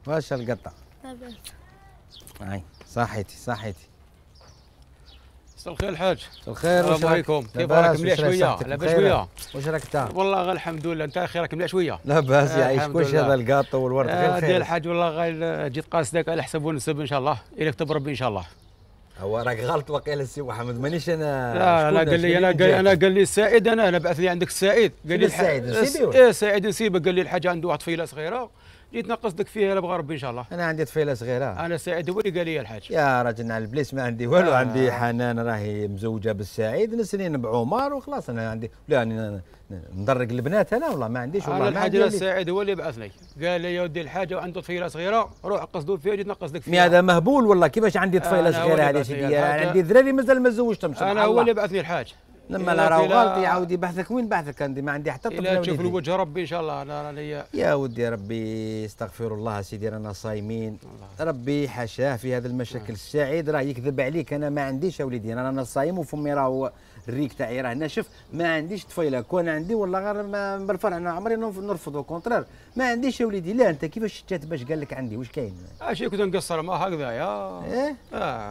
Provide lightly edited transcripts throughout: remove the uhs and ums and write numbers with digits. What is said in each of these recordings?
واش القطه؟ لاباس. هاي صحيتي صحيتي. مساء الخير الحاج. مساء الخير. السلام عليكم. كيف راك؟ مليح شويه؟ لاباس شويه؟ واش راك انت؟ والله غير الحمد لله. انت اخي راك مليح شويه؟ لاباس يعيش الحمد كلشي. لله. هذا الكاطو والورد غير خير. ديال الحاج والله غير جيت قاصدك على حسب ونسب ان شاء الله الى كتب ربي ان شاء الله. هو راك غلط وقيل السي محمد مانيش انا. لا قال لي انا قال لي السعيد انا بعث لي عندك السعيد قال لي السعيد نسيبيه. ايه سعيد نسيبك قال لي الحاج عنده واحد طفيله صغيره جيت نقصدك فيها لا بغى ربي ان شاء الله. انا عندي طفيله صغيره. انا سعيد هو اللي قال لي الحاج. يا راجل على البليس ما عندي والو. عندي حنان راهي مزوجه بالسعيد نسنين بعمر وخلاص. انا عندي يعني ندرق البنات انا والله ما عنديش والله. انا الحاج السعيد هو اللي بعثني قال لي يا ودي الحاج وعنده طفيله صغيره روح قصدوا فيها جيت نقصدك فيها. هذا مهبول والله. كيفاش عندي طفيله صغيره هذه سيدي؟ عندي ذراري مازال ما زوجتهمش. انا هو اللي بعثني الحاج. لما لا راهو غلط يعاود يبحثك. وين بحثك؟ عندي ما عندي حتى طفل. لا تشوف الوجه ربي ان شاء الله. انا راني يا ودي ربي استغفر الله سيدي رانا صايمين. ربي حاشاه في هذا المشاكل. السعيد راه يكذب عليك. انا ما عنديش يا وليدي. انا صايم وفمي راهو الريك تاعي راه ناشف. ما عنديش طفيله. كون عندي والله غير بالفرع. انا عمري نرفض وكونترير. ما عنديش يا وليدي. لا انت كيفاش شتات باش قال لك عندي؟ واش كاين؟ شي كنت نقصر ما هكذا يا ايه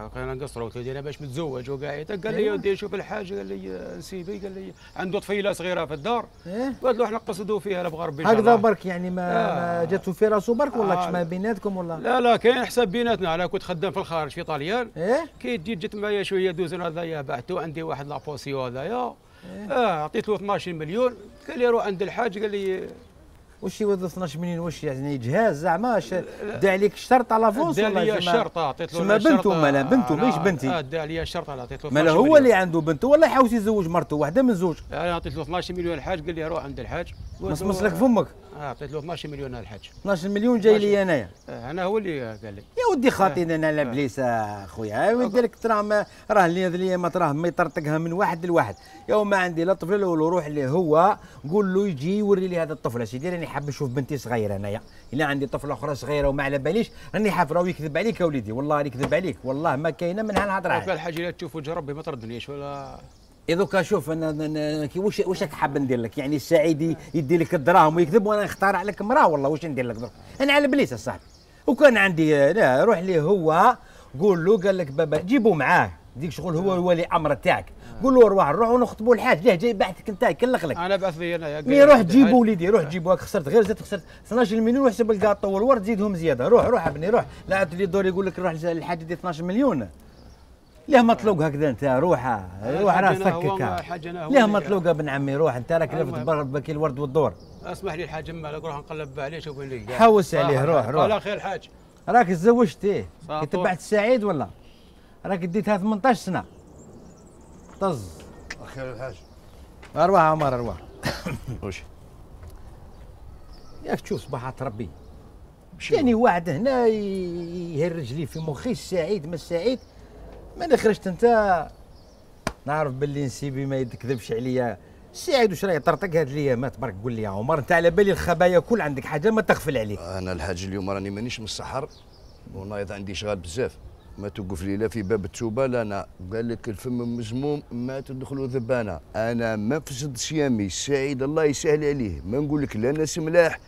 كنا نقصر قلت له انا باش متزوج وقاعد قال لي يا ودي شوف الحاج قال لي نسيبي قال لي عنده طفيله صغيره في الدار. قلت له احنا نقصدوا فيها لا بغى ربي ان شاء الله. هكذا برك يعني ما جاتو في راسو برك ولا ما بيناتكم ولا؟ لا كاين حساب بيناتنا. انا كنت خدام في الخارج في طاليان. كي جيت معايا شويه دوزن هذايا بعتو عندي واحد لابوسيو هذايا. عطيت له 12 مليون قال لي روح عند الحاج قال لي واش يوظف 12 مليون؟ واش يعني جهاز زعما دا عليك الشرط على فونس ولا؟ دا عليا الشرط عطيت له. ما بنته مالا بنته ماهيش بنتي. دا عليا الشرط انا عطيت له. مالا هو اللي عنده بنته ولا يحاول يزوج مرته واحده من زوج؟ انا عطيت له 12 مليون الحاج قال لي روح عند الحاج. مصمص لك فمك. عطيت له 12 مليون الحاج. 12 مليون جاي لي انايا. انا هو اللي قال لي. يا ودي خاطينا انا على بليس اخويا. ودي لك ترى راه اللي ما تراه ما يطرطقها من واحد لواحد. يا ما عندي لا طفل ولا روح اللي هو قول له يجي يوري لي هذا الطفل. سيدي راني حاب نشوف بنتي صغيره انايا. الا عندي طفله اخرى صغيره وما على باليش راني حاب. راهو يكذب عليك يا وليدي والله يكذب عليك والله ما كاينه منها الهضره. الحاجه اللي تشوف وجه ربي ما تردنيش ولا. دوكا شوف انا واش راك حاب ندير لك؟ يعني السعيد يدي لك الدراهم ويكذب وانا نختار لك مراه والله واش ندير لك درك؟ انا على بليس اصاحبي. وكان عندي لا روح ليه هو قول له قال لك بابا جيبوا معاه ديك شغل هو ولي امر تاعك. قول له روح ونخطبوا الحاج. ليه جاي بعثك انت يكلخ لك. انا بعث لي انا مي روح جيبوا وليدي روح جيبوا. خسرت غير زدت خسرت 12 مليون وحسب الكاطو والورد زيدهم زياده. روح ابني روح. لا تولي دور يقول لك روح للحاج دي 12 مليون. ليه مطلوق هكذا انت؟ روح راه فكك. ليه مطلوق ابن عمي؟ روح انت راك لفت بكي الورد والدور. اسمح لي الحاج مالك روح نقلب عليه شوف وين لقاه. حوس عليه روح. على خير الحاج. راك تزوجت ايه؟ تبعت السعيد ولا؟ راك ديتها 18 سنه. طز. خير الحاج. ارواح عمر ارواح. واش؟ ياك تشوف صباحات ربي. يعني واحد هنا يهرج لي في مخي السعيد ما السعيد. ما خرجت انت نعرف باللي نسيبي ما يكذبش عليا. السعيد واش راه يطرطق هاد الايامات برك قول لي يا عمر انت على بالي الخبايا كل عندك حاجه ما تغفل عليك. انا الحاج اليوم راني مانيش من السحر ونايض عندي شغال بزاف. ما توقف لي لا في باب التوبه لا انا قال لك الفم مزموم ما تدخلوا ذبانه. انا ما فسدتش يامي. السعيد الله يسهل عليه. ما نقول لك لا ناس ملاح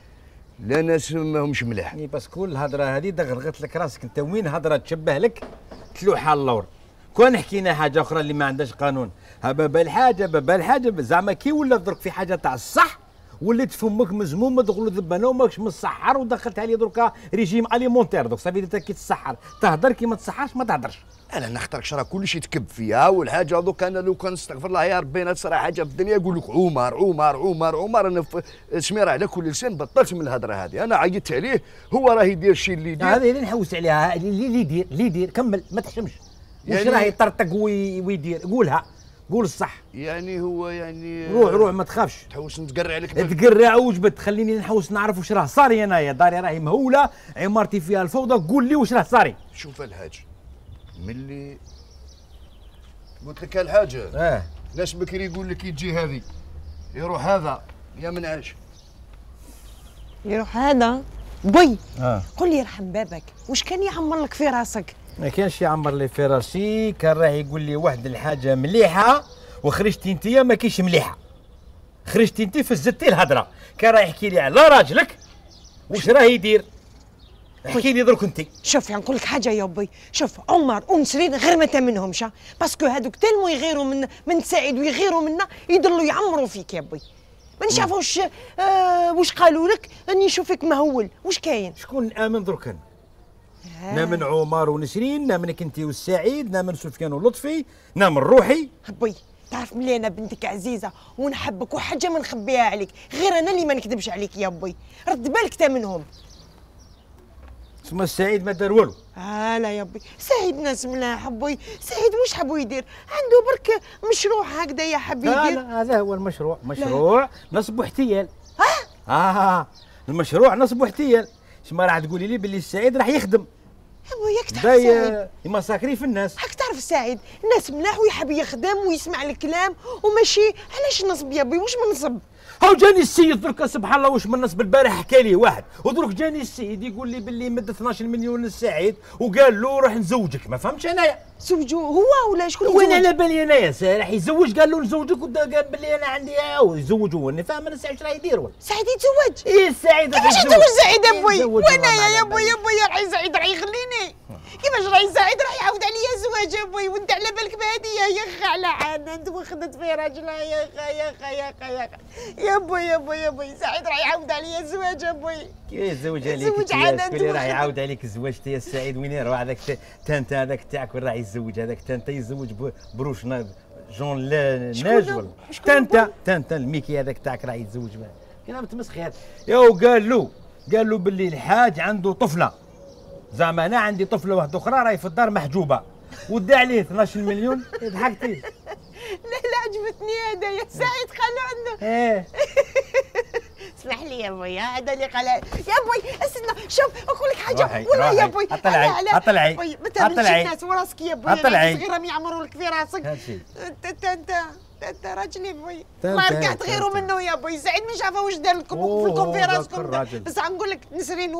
لا ناس ماهمش ملاح. باسكو الهضره هذه دغرغت لك راسك انت. وين هضره تشبه لك تلوحه اللور. كون حكينا حاجه اخرى اللي ما عندهاش قانون. بابا الحاجه زعما كي ولا درك في حاجه تاع الصح وليت فمك مزموم ما تدخلوا ذبانه وماكش مسحر ودخلتها لي دركا ريجيم اليمونتير. دوك صافي انت كي تسحر تهضر كي ما تصحرش ما تهضرش. انا نختاركش راه كلشي تكب فيها والحاجه دوك. انا لو كان نستغفر الله يا ربي انا تصرا حاجه في الدنيا يقول لك عمر. انا سميره على كل لسان بطلت من الهضره هذه. انا عيطت عليه هو راه يدير الشيء اللي يدير. هذه اللي نحوس عليها اللي يدير كمل ما تحشمش. واش راه يطرطق ويدير قولها قول الصح. يعني هو يعني روح ما تخافش. تحوس نتقرع عليك. تقرع وجبت خليني نحوس نعرف واش راه صاري. انايا داري راهي مهوله عمارتي فيها الفوضى. قول لي واش راه صاري. شوف الحاج ملي قلت لك الحاجه ناس بكري يقول لك يجي هذه يروح هذا يا منعش يروح هذا بوي. قول لي يرحم بابك واش كان يعمر لك في راسك؟ ما كانش يعمر لي في راسي. كان راح يقول لي واحد الحاجه مليحه وخرجتي انت ما كاينش مليحه. خرجتي انت فزتي الهضره. كان راح يحكي لي على راجلك واش راه يدير. احكي لي درك انت. شوف يعني نقول لك حاجه يا بي، شوف عمر ونسرين غير ما تامنهمش، باسكو هذوك تالمو يغيروا من سعيد ويغيروا منا يضلوا يعمروا فيك يا بي. ما نشافوش واش قالوا لك اني نشوفك مهول، واش كاين؟ شكون نامن درك انا؟ نامن عمر ونسرين، نامنك انت والسعيد، نامن سفيان ولطفي، نامن روحي. بي تعرف ملي انا بنتك عزيزه ونحبك وحاجه ما نخبيها عليك، غير انا اللي ما نكذبش عليك يا بي، رد بالك تامنهم. تسمى السعيد ما دار والو. لا يا بي، سعيد ناس ملاح بي، سعيد واش حبوا يدير؟ عنده برك مشروع هكذا يا حبي يدير. لا هذا هو المشروع، مشروع نصب واحتيال. المشروع نصب واحتيال. شما راح تقولي لي باللي السعيد راح يخدم. ياك تعرف سعيد يمساكري في الناس. هاك تعرف سعيد الناس ملاح ويحب يخدم ويسمع الكلام وماشي علاش نصب يا بي، واش ما نصب؟ هاو جاني السيد درك سبحان الله واش من نصب. البارح حكى لي واحد ودرك جاني السيد يقول لي باللي مد 12 مليون للسعيد وقال له راح نزوجك. ما فهمتش انايا زوجو هو ولا شكون؟ وين على بالي انايا راح يزوج، قال له نزوجك قال باللي انا عندي يزوجوا. انا فاهم انا سعيد راه يدير ولا سعيد يتزوج؟ ايه السعيد كيفاش يتزوج سعيد ابوي؟ وانايا يا بوي يا بوي راح سعيد راح يخليني، كيفاش راهي سعيد راح يعاود عليا زواج ابوي، وانت على بالك بهديه يا خا على عانت وخدت في راجلها يا خا يا خا يا خا يا خا يا بوي يا بوي يا بوي، سعيد راح يعاود عليا الزواج ابوي. كيف يزوج عليك؟ يزوج عانت راح يعاود عليك الزواج يا السعيد. وين يروح هذاك تانتا هذاك تاعك وين راح يتزوج؟ هذاك تانتا يتزوج بروش جون ناجول. تانتا الميكي هذاك تاعك راح يتزوج معاه. كان متمسخر يا قال له باللي الحاج عنده طفله، زعما انا عندي طفله واحده اخرى راهي في الدار محجوبه ودى عليه 12 مليون. ضحكتي؟ لا عجبتني هذا يا سعيد قالوا عنده. اسمح لي يا بوي هذا اللي قال يا بوي. استنى شوف اقول لك حاجه والله يا بوي. اطلعي بوي ما تهمش الناس وراسك يا بوي، صغيره ما يعمروا لك في راسك. انت راجل يا بوي، ما ركعت غيروا منه يا بوي. سعيد ما شافه واش دار لكم وفيكم في راسكم، بس غنقول لك نسرين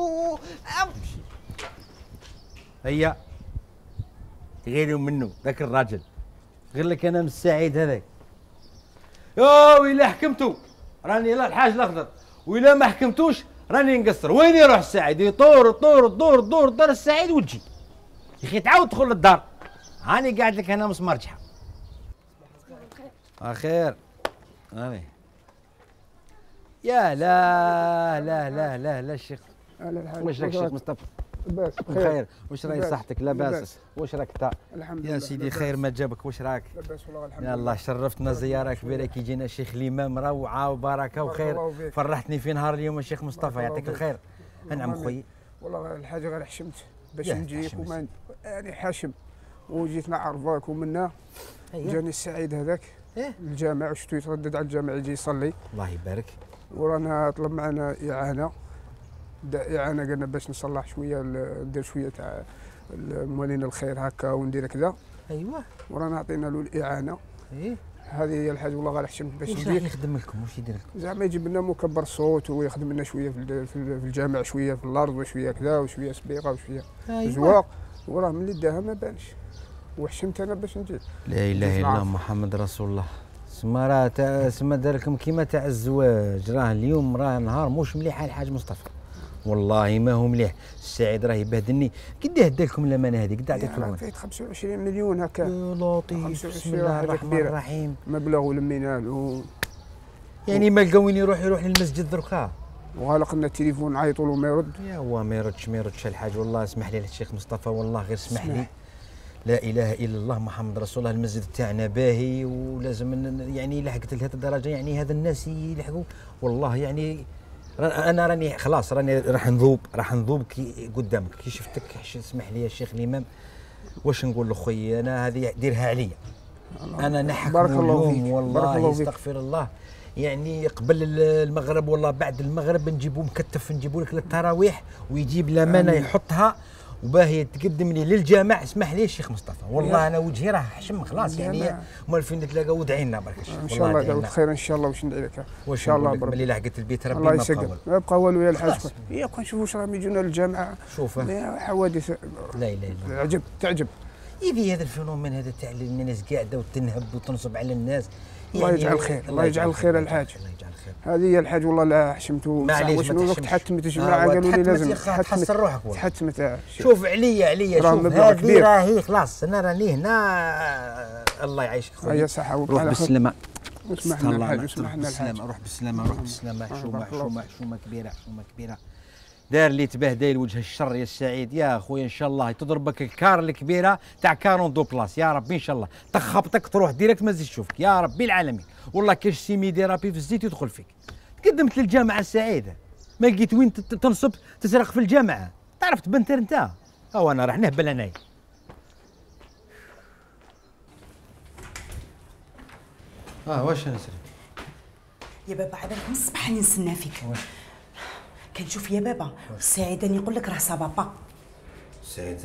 هيا غيروا منه ذاك الراجل. غير لك انا من السعيد هذاك. يا ويلا حكمتو راني لا الحاج الاخضر، وإلا ما حكمتوش راني نقصر. وين يروح السعيد؟ يطور دار السعيد وتجي يا اخي تعاود تدخل للدار. هاني قاعد لك هنا مسمار جحا. خير هاني يا لا الشيخ. واش راك الشيخ مصطفى؟ لاباس بخير. واش راهي صحتك؟ لاباس. واش راك انت؟ الحمد لله يا سيدي خير ما جابك. واش راك؟ لاباس والله الحمد لله. يلا شرفتنا زياره كبيره كي جينا الشيخ الامام روعه وبركه وخير. فرحتني في نهار اليوم الشيخ مصطفى يعطيك الخير. انعم خويا. والله الحاجه غير حشمت باش نجيك وما يعني حاشم وجيت نعرفك ومنا جاني السعيد هذاك الجامع وشفتو يتردد على الجامع يجي يصلي. الله يبارك. ورانا طلب معنا اعانه قلنا باش نصلح شويه ندير شويه تاع موالين الخير هكا وندير كذا. ايوه ورانا عطينا له الاعانه. هذه هي الحاجه والله غير حشمت باش نجيك. واش يخدم لكم؟ واش يدير لكم؟ زعما يجيب لنا مكبر صوت ويخدم لنا شويه في الجامع، شويه في الارض وشويه كذا وشويه سبيقه وشويه زواق. وراه ملي داها ما بانش وحشمت انا باش نجي. لا اله الا الله محمد رسول الله. سما راه سما دار لكم كيما تاع الزواج. راه اليوم راه نهار موش مليح الحاج مصطفى، والله ما هو مليح. السعيد راه يبهدلني. قداه دا لكم الامانه هذه؟ قد عطيتكم الامانه؟ فايت 25 مليون هكا. يا لطيف بسم الله الرحمن الرحيم. مبلغ ولمينا له يعني ما لقاو وين يروح للمسجد دركا. وغلق لنا التليفون نعيطوا له ما يرد. يا هو ما يردش الحاج. والله اسمح لي الشيخ مصطفى، والله غير اسمح لي. لا اله الا الله محمد رسول الله. المسجد تاعنا باهي ولازم يعني لحقت لهذه الدرجه يعني هذا الناس يلحقوا. والله يعني انا راني خلاص راني راح نذوب كي قدامك كي شفتك. اسمح لي يا شيخ الامام واش نقول لاخويا انا هذه ديرها عليا انا نحكم اليوم والله استغفر الله. يعني قبل المغرب والله بعد المغرب نجيبو مكتف نجيبو لك للتراويح ويجيب الامانه يحطها وباهي تقدم لي للجامع. اسمح لي الشيخ مصطفى والله انا وجهي راه حشم خلاص يعني. مال فين نتلاقاو ودعي لنا برك ان شاء الله داود خير ان شاء الله. واش ندعي لك ان شاء الله برك ملي لحقت البيت ربي الله يسقم ما بقى والو يا الحاج. يا كون نشوفوا واش راهم يجونا للجامعه. شوف حوادث لا اله الا الله. تعجب يبي هذا الفينومين هذا تاع الناس قاعده وتنهب وتنصب على الناس. الله يجعل خير. الله يجعل خير الحاج. الله يجعل هذه هي الحاج والله لا حشمتو. معليش شنو وقت تحتمت الجماعه قالوا لي لازم تحسن روحك. تحتمت. شوف عليا شوف هذه راهي خلاص انا راني هنا. الله يعيشك خويا. هيا صحه روح بالسلامه. وسمحنا الحاج وسمحنا الحاج. روح بالسلامه. حشومه كبيره. دار اللي تبهدل وجه الشر يا السعيد يا خويا. ان شاء الله تضربك الكار الكبيره تاع 42 بلاص يا ربي. ان شاء الله تخبطك تروح ديريكت ما تزيد تشوفك يا ربي العالمين. والله كاش سيميديرابي في الزيت يدخل فيك. تقدمت للجامعه السعيده ما لقيت وين تنصب تسرق في الجامعه. تعرف تبنتر انت. هو انا راح نهبل انايا. واش نسري يا بابا عبالك من الصباح راني نستنى فيك. كنشوف يا بابا السعيد راني يقول لك راه صافا. السعيد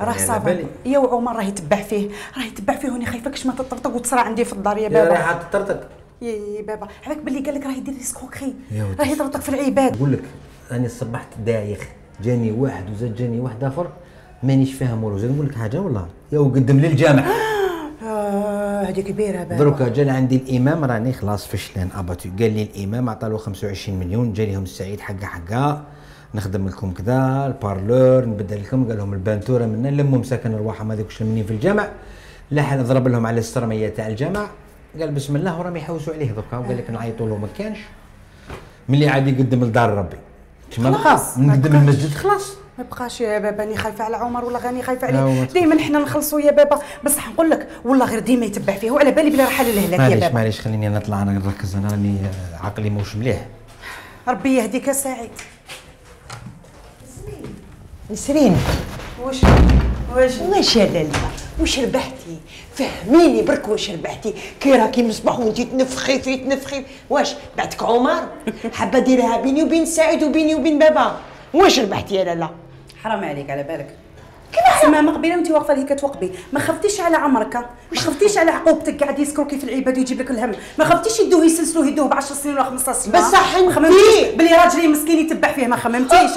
راه صافا يا وعمر راه يتبع فيه وني خايفاكش ما تطرطق وتصرى عندي في الدار يا بابا. راه تطرطق يا بابا عبالك باللي قال لك راه يدير ريسكوكري راه يطرطق في العباد. نقول لك راني صبحت دايخ جاني واحد وزاد جاني واحد اخر مانيش فاهم والو. زاد نقول لك حاجه والله يا وقدم للجامعه. هذه كبيره بابا. دروكا جا عندي الامام راني خلاص فشلان اباتو. قال لي الامام عطالو 25 مليون. جا ليهم السعيد حقا نخدم لكم كذا البارلور نبدل لكم. قال لهم البانتوره منا لموا مساكن ارواحهم هذوك شلمنين في الجامع. لا ضرب لهم على السرميه تاع الجامع. قال بسم الله وراهم يحوسوا عليه دوكا. وقال لك نعيطوا له ما كانش ملي عاد يقدم لدار ربي. ما بقى نقدم المسجد خلاص ما بقاش يا بابا. راني خايفه على عمر ولا غاني خايفه عليه. دائما حنا نخلصوا يا بابا بصح نقول لك والله غير ديما يتبع فيه وعلى بالي بلي راح للهلاك يا بابا. معليش خليني نطلع انا نركز. انا راني عقلي موش مليح. ربي يهديك يا سعيد. نسرين واش يا لاله واش ربحتي؟ فهميني برك واش ربحتي؟ كي راكي مصباح وانتي تنفخي واش بعدك عمر حابه ديرها بيني وبين سعيد وبيني وبين بابا. واش ربحتي يا لاله؟ حرام عليك على بالك. كيما سما قبيله وانت واقفه لي كتوقبي. ما خفتيش على عمرك ما خفتيش على عقوبتك قاعد يسكروكي في العباد ويجيب لك الهم. ما خفتيش يدوه يسلسلوه يدوه ب 10 سنين ولا 15 سنه. بصح ما خممتيش بلي راجلي مسكين يتبع فيه. ما خممتيش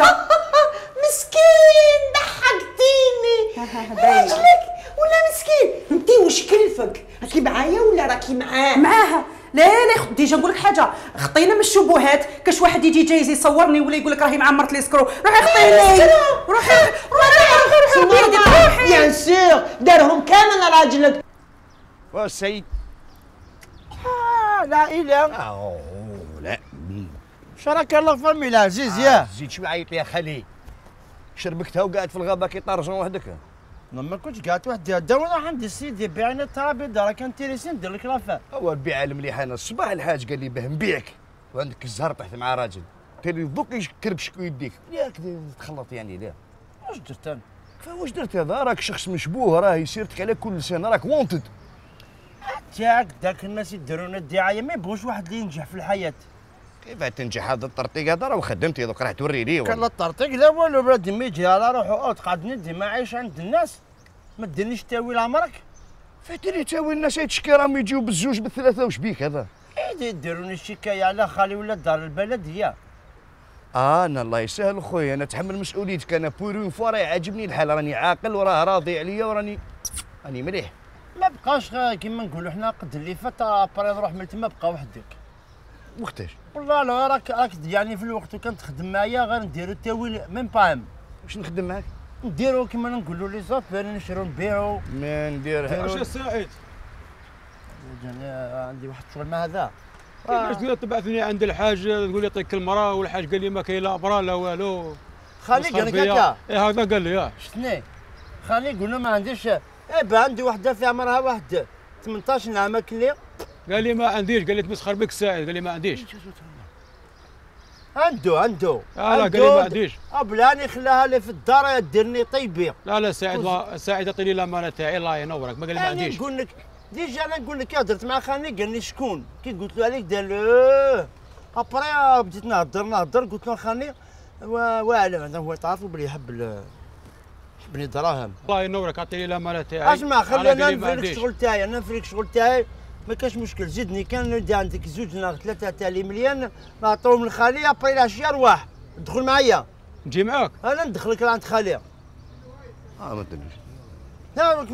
مسكين ضحكتيني. راجلك ولا مسكين؟ انتي واش كلفك؟ راكي معايا ولا راكي معاه؟ معاها. لا ديجا نقول لك حاجه. خطينا من الشبهات. كاش واحد يجي جايز يصورني ولا يقول لك راهي مع مرت ليسكرو. روحي خطيني روحي بيان سور دارهم كامل راجلك. واش سعيد؟ لا اله لا شراك الله فمي العزيز يا زيد شوي عيط يا خالي. شربكتها وقاعد في الغابه كي طارجون وحدك. ما كنتش قاعد وحدي. داونا عندي سيدي بيعني الترابيزه راه كان تيريسي ندير لك لافا. هو البيع المليح. انا الصباح الحاج قال لي باه نبيعك وعندك الزهر طحت مع راجل. تاني دوك يكربشك ويديك. ياك تخلط يعني لا. واش درت انا؟ واش درت هذا؟ راك شخص مشبوه راه يسيرتك على كل سنه راك وونتد. تاعك داك الناس يديرون الدعايه ما يبغوش واحد اللي ينجح في الحياه. كيف تنجح هذا الطرطيق هذا؟ راه خدمتي دوك راح توري لي. كان لا الطرطيق لا والو. بلادي ما يجي على روحو تقعد ندي ما عايش عند الناس. ما ديرنيش تاويل عمرك. فديري تاويل الناس يتشكي راهم يجيو بالزوج بالثلاثه. واش بيك هذا؟ يديروني الشكايه على خالي ولا دار البلديه. انا الله يسهل خويا انا اتحمل مسؤوليتك. انا بور اون فوا راه يعجبني الحال. راني عاقل وراه راضي عليا وراني مليح. ما بقاش كيما نقولوا حنا قد اللي فات ابري نروح من تما بقى وحدك. وقتاش؟ والله لا راك يعني في الوقت وكنت تخدم معايا غير نديرو التاويل ميم باام. واش نخدم معاك؟ نديرو كيما نقولوا لي زافير نشرو نبيعو. ما نديرها. واش السعيد؟ عندي واحد الشغل مع هذا. كيفاش تقدر تبعثني عند الحاج تقول لي يعطيك المراه والحاج قال لي ما كاين لا برا لا والو. خالي قال لك هكا. ايه هذا قال لي. شتني خالي قلنا ما عنديش. عندي وحده في عمرها واحد 18 عام كلي. قال لي ما عنديش. قال لي تمسخر بك السعيد. قال لي ما عنديش. عنده لا قال لي ما عنديش. بلاني خلاها لي في الدار ديرني طيبي. لا سعيد عطيني الامانه تاعي الله ينورك. ما قال لي ما عنديش. نقول لك ديجا انا نقول لك درت مع خالي قال لي شكون كي قلت له عليك دار ابري بديت نهضر قلت له خالي واعلم هذا هو تعرف بلي يحب دراهم. الله ينورك عطيني الامانه تاعي. اسمع خلينا نفرق الشغل تاعي. انا نفرق الشغل تاعي ما كاش مشكل. زيدني كان ندي عندك زوج ولا ثلاثه تاع لي مليون نعطيهم لخالي ابري العشيه ارواح ادخل معايا. نجي معاك. انا ندخلك لعند خالي. ما تدريش. لا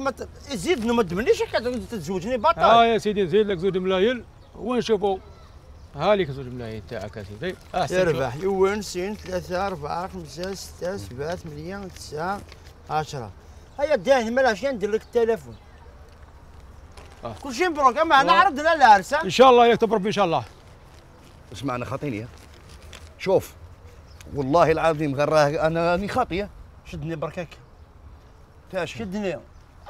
زيدني ما تدمنيش هكا تتزوجني بطل. يا سيدي نزيد لك زوج ملايين ونشوفوا. ها لك زوج ملايين تاعك اسيدي. يربح يوان سين 3 4 5 6 7 8 9 10. هيا داهن مالاش ندير لك التليفون. كلشي مبروك. اما انا عرضنا العرس. ان شاء الله يكتب ربي ان شاء الله. اسمعنا خاطيني. شوف والله العظيم غراه انا راني خاطيه. شدني بركاك. تاش شدني.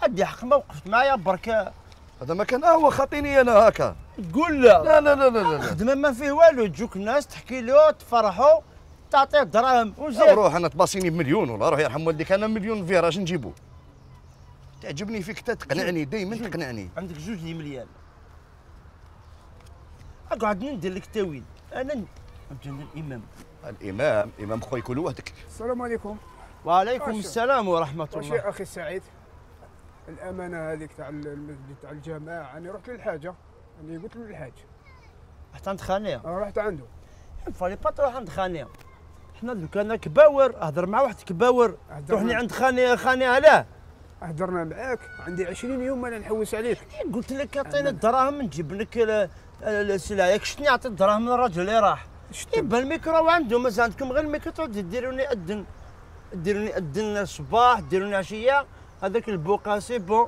عندي حق ما وقفت معايا برك. هذا ما كان هو خاطيني انا هكا. تقول لا. لا لا لا لا لا. خدمه ما فيه والو، تجوك الناس تحكي له تفرحوا تعطيه الدراهم وزيد. روح انا تباصيني بمليون والله روح يرحم والديك، انا مليون فيه راش نجيبو. تعجبني فيك تقنعني دايما تقنعني. عندك 2 مليون. اقعد ندير لك تاويل. انا الامام. الامام خويا كل وحدك. السلام عليكم. وعليكم السلام ورحمه واش الله. اخي سعيد الامانه هذيك تاع المسجد تاع الجماعه، انا رحت للحاجه، انا قلت له الحاج رحت عند خانيه. رحت عنده. فالي با تروح عند خانيه. حنا دوك انا كباور اهضر مع واحد كباور، روحني عند خانيه علاه؟ هضرنا معاك، عندي 20 يوم انا نحوس عليك. قلت لك اعطيني الدراهم نجيب لك السلعه، ياك شتني عطيت الدراهم للراجل اللي راح. يبا الميكرو عنده، مازال عندكم غير الميكرو تعود ديروني اذن الصباح، ديروني عشيه، هذاك البوقا سي بون،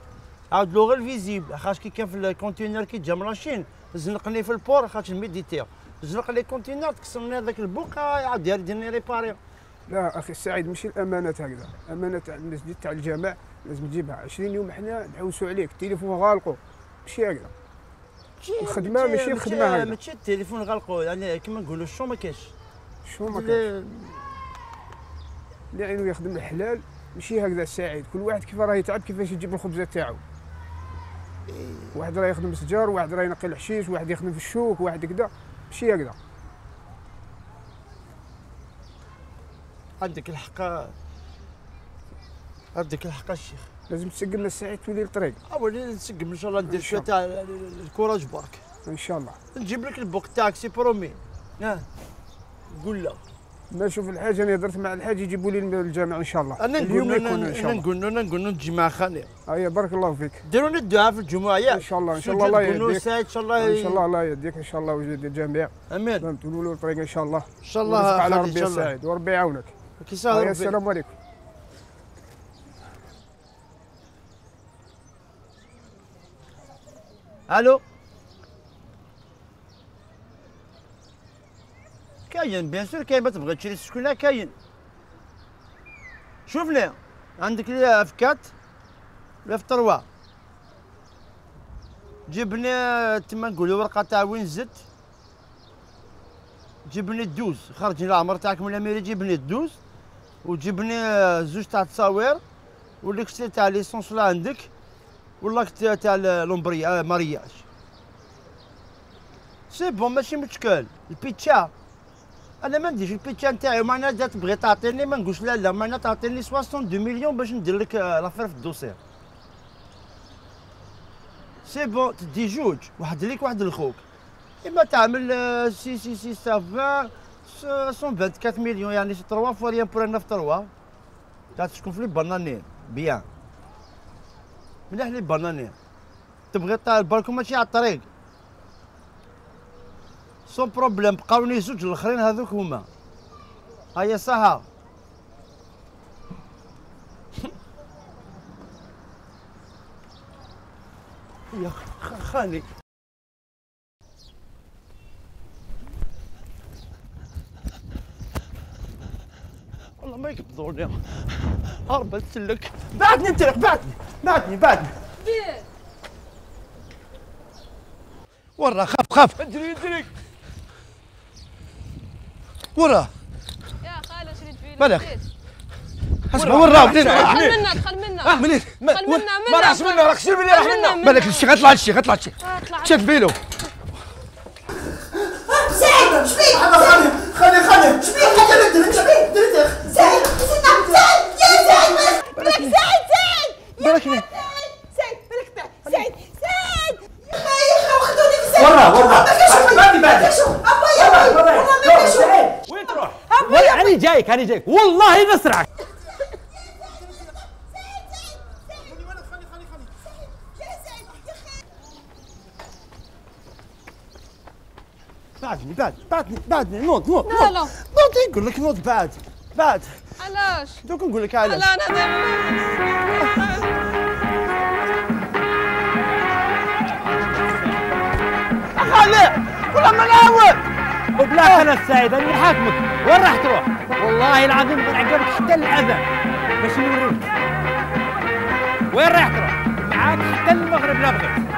عاود له غير الفيزيبل، خاطر كي كان في الكونتينر كي جا من لاشين زنقني في البور خاطر ميديتير، زنق لي كونتينر تكسرني هذاك البوقا عاود يديرني ريباري. لا اخي السعيد ماشي الامانه هكذا، امانه تاع المسجد تاع الجامع لازم تجيبها 20 يوم حنا نحوسوا عليك، التليفون غالقوا ماشي هكذا. الخدمه ماشي الخدمه هكذا. ماشي التليفون غلقوا، يعني كيما نقولوا الشو ما كاينش. شو ما كاينش. اللي عينو يخدم الحلال ماشي هكذا السعيد، كل واحد كيف راه يتعب كيفاش يجيب الخبزه تاعو. واحد راه يخدم السجار، واحد راه ينقي الحشيش، واحد يخدم في الشوك، واحد كذا، ماشي هكذا. عندك الحق الشيخ. لازم تسقمنا السعيد تولي الطريق. ولي نسقم ان شاء الله، ندير شويه تاع الكوراج برك. ان شاء الله. نجيب لك البوك تاعك سي برومي. قول له. ما شوف الحاج، انا هضرت مع الحاج يجيبوا لي الجامع ان شاء الله. انا اليوم يكون ان شاء الله. نقول نجي مع خالي. ايوا بارك الله فيك. ديروا الدعاء في الجمعه ياك. ان شاء الله ان شاء الله الله يهديك. ان شاء الله ان شاء الله الله يهديك ان شاء الله ويجد الجميع. امين. فهمتوا له الطريق ان شاء الله. ان شاء الله على ربي السعيد وربي يعاونك. السلام عليكم. الو. كاين بيان سور كاين، ما تبغي تشري السكونه كاين. شوف لي عندك لي في 4 ولا في 3. جبني تما نقولوا ورقه تاع وين زدت، جبني 12 خرج لي العمر تاعك من الاميري، جبني 12 وجبني 2 تاع التصاوير والاكستري تاع ليسونس لا عندك والله تاع لومبريا مارياج. سي بون ماشي مشكل. البيتشا انا ما نديرش البيتشا نتاعي، معناها اذا تبغي تعطيني ما نقولش لا معناها تعطيني 62 مليون باش ندير لك لافير في الدوسير. سي بون تدي جوج، واحد ليك واحد لخوك، اما تعمل سي سافان 124 مليون، يعني 3 فوا ريان بور 9 في 3 تاع تشكون في لي بانانين بيان مليح لي بانانين. تبغي البالكون ماشي على الطريق سون بروبليم، بقاوني 2 الاخرين هذوك هما. هيا صحا. يا خالي والله ما يقبضوني، هربت لك. بعدني انطلق، بعدني ورا خاف ادري ورا. يا خالد شريت فيه مالك؟ اسمع ورا منين؟ دخل منا منين؟ ما راحش منه، راك شنو اللي راح منه؟ مالك الشيخ غطلع الشيخ شد فيلو. سعيد شبيك؟ خلي شبيك؟ حاجه ندير شبيك؟ سعيد يا سعيد بالك سعيد يا اخي وخذوني في سعيد. ورا ما وين تروح؟ انا جايك والله نسرعك. بعدني نوض لا لا نوض يقول لك نوض بعد علاش؟ دوك نقول لك علاش. لا انا خالي ولا ما نعاود. وبلاك انا السعيد انا حاكمك، وين راح تروح؟ والله العظيم بنعقبك حتى الاذان باش نوريك. وين رايح تروح؟ معاك حتى المغرب لا بغيت.